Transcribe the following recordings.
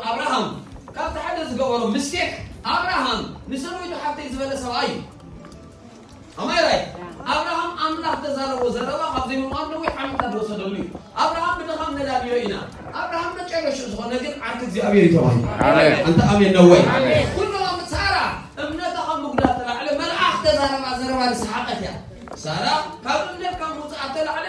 ኣብርሃም ካብቲ ሓደ ዝገበሮ ምስቴክ ኣብርሃም ንሰበይቱ ሓፍተይ ዝበለ ሰብኣይ እዩ። ኣማይ ራይ ኣብርሃም ኣምላኽ ተዛረቦ ዘረባ ካብ ዘይምእማን ነዊሕ ዓመታት ዝወሰደሉ እዩ። ኣብርሃም ብድኻም ነላልዮ ኢና። ኣብርሃም መጨረሻ ዝኾነ ግን ዓርኪ እግዚኣብሔር እዩ ተባሂሉ። ኣሜን። ኣንተ ኣሜን ነው ወይ? ኣሜን። ኩሎም ሳራ እምነታ ካብ ምጉዳል ተላዕለ መልኣኽ ተዛረባ ዘረባ ንሰሓቐት እያ። ሳራ ካብ እምነት ካብ ምውፅኣት ተላዕለ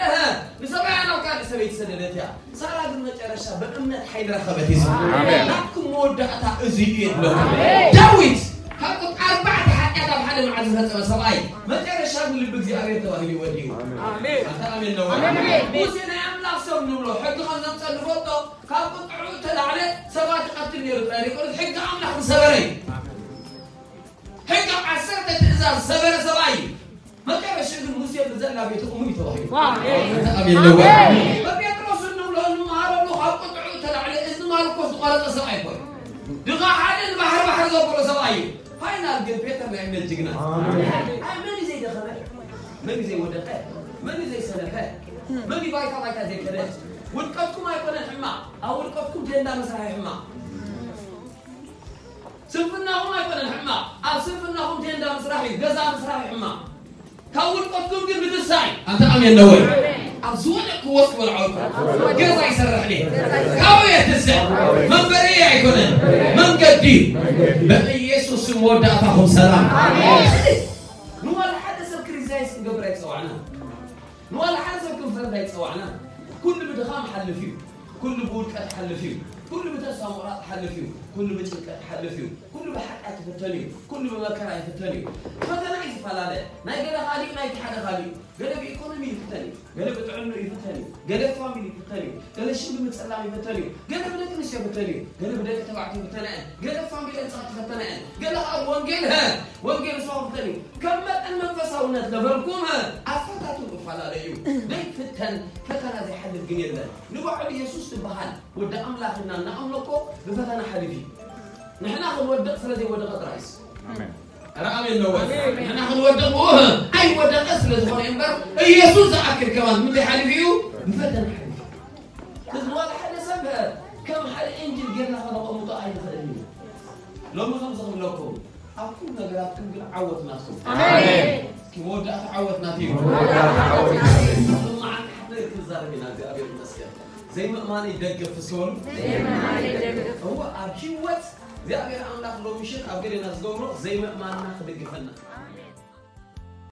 ንሰብኣያ ናብ ካልእ ሰበይቲ ሰደደት እያ። ሳራ ግን መጨረሻ ብእምነት ሓይሊ ረኸበት እዩ። ኣሜን። ናትኩም መወዳእታ እዚ እዩ የድለኩም። ዳዊት ካብ ቁጥሪ ኣርባዕተ ሓጢኣት ኣብ ሓደ መዓልቲ ዝፈጸመ ሰብኣይ መጨረሻ ግን ልቢ እግዚኣብሔር ተባሂሉ ይወዲ እዩ። ኣሜን። ኣታ ኣሜን ነው። ኣሜን። ሙሴ ናይ ኣምላኽ ሰብ ንብሎ ሕጊ ከም ዘምጸ ንፈልጦ ካብ ቁጥዑ እተላዕለ ሰባት ይቐትል ነይሩ ጥራይ ዘይኮነስ ሕጊ ኣምላኽ ዝሰበረ እዩ። ሕጊ ዓሰርተ ትእዛዝ ዝሰበረ ሰብኣይ እዩ። መጨረሻ ግን ሙሴ ብዘላ ቤተ እሙን እዩ ተባሂሉ። ኣሜን። ኣሜን። በጴጥሮስ እንብሎ እንመሃረሉ ካብ ቁጥዑ ተላዕለ እዝኒ ማርቆስ ዝቆረጠ ሰብኣይ እኮ እዩ። ድኻ ሓደ ንባሕሪ ባሕሪ ዘበሎ ሰብኣይ እዩ። ፋይናል ግን ፔተር ናይ እምነት ጅግና። ኣሜን። ኣይ መን እዩ ዘይደኸመ? መን እዩ ዘይወደቀ? መን እዩ ዘይሰነፈ? መን እዩ ባይታ ባይታ ዘይከደ? ውድቀትኩም ኣይኮነን ሕማቕ፣ ኣብ ውድቀትኩም ቴንዳ ምስራሕ እዩ ሕማቕ። ስንፍናኹም ኣይኮነን ሕማቕ፣ ኣብ ስንፍናኹም ቴንዳ ምስራሕ እዩ፣ ገዛ ምስራሕ እዩ ሕማቕ። ካብ ውድቀትኩም ግን ምትንሳእ እዩ። ኣንተ ኣሜን ነው ወይ? ኣብ ዝወደቅክዎ እስኪ በሉ ዓወትኩም። ገዛ ይሰርሕ እየ፣ ካብኡ እየ ትንስእ፣ መንበሪ ኣይኮነን፣ መንገዲ እዩ። በኢየሱስ ስም መወዳእታኹም ሰላም። ንዋላ ሓደ ሰብ ክሪቲሳይዝ ክንገብር ኣይተጸዋዕናን። ንዋላ ሓደ ሰብ ክንፈርድ ኣይተጸዋዕናን። ኩሉ ብድኻም ሓልፍ እዩ። ኩሉ ብውድቀት ሓልፍ እዩ። ኩሉ ብተስፋ ምቑራጽ ሓልፍ እዩ። ኩሉ ብጭንቀት ሓልፍ እዩ። ኩሉ ብሓጢኣት ይፍተን እዩ። ኩሉ ብመከራ ይፍተን እዩ። ፈተና እዩ ዝፈላለ። ናይ ገለ ካሊእ፣ ናይቲ ሓደ ካሊእ እዩ። ገለ ብኢኮኖሚ ይፍተን እዩ። ገለ ብጥዕንኡ ይፍተን እዩ። ገለ ፋሚሊ ይፍተን እዩ። ገለ ሽም ብምጽላም ይፍተን እዩ። ገለ ብደቂ ኣንስትዮ ይፍተን እዩ። ገለ ብደቂ ተባዕትዮ ይፍተና እየን። ገለ ፋሚሊ ኣንጻር ትፈተና እየን። ገለ ከኣ ብወንጌል፣ ሀ፣ ወንጌል ንስኻ ይፍተን እዩ። ከም መጠን መንፈሳውነት ለቨልኩም፣ ሀ፣ ኣፈታትኑ እፈላለ እዩ። ዘይፍተን ፈተና ዘይሓልፍ ግን የለን። ንባዕሉ የሱስ ዝበሃል ወዲ ኣምላኽ ኢና እናኣምኖ እኮ ብፈተና ሓሊፉ እዩ። ንሕና ክንወድቕ ስለ ዘይወደቐ ጥራይስ። ኣሜን። ኧረ ኣሜን ነው ወይ? ኣሜን። ንሕና ክንወድቕ ብኡ ኣይወደቐ ስለ ዝኾነ እምበር፣ ኢየሱስ ዝኣክል ከማን ምንታይ ሓሊፉ እዩ? ብፈተና ሓሊፉ። እዚ ዋላ ሓደ ሰብ ከም ሓደ ኤንጅል ጌርና ከነቐምጦ ኣይንኽእልን ኢና። ሎሚ ከምዚ ክብለኩም፣ ኣብ ኩሉ ነገራትኩም ግን ዓወት ናትኩም። ኣሜን። እስኪ መወዳእታ ዓወት ናት እዩ። መወዳእታ ዓወት ናት እዩ። መዓልቲ ሓደር ክዛረብ ኢና፣ እግዚኣብሔር ይመስገን። ዘይምእማነይ ደግፍ እስኪ በሉ። ዘይምእማነይ ደግፍ። እወ፣ ኣብ ህይወት እግዚኣብሔር ኣምላኽ ሎሚ ምሸት ኣብ ገሌና ዝገብሮ ዘይምእማንና ክድግፈና።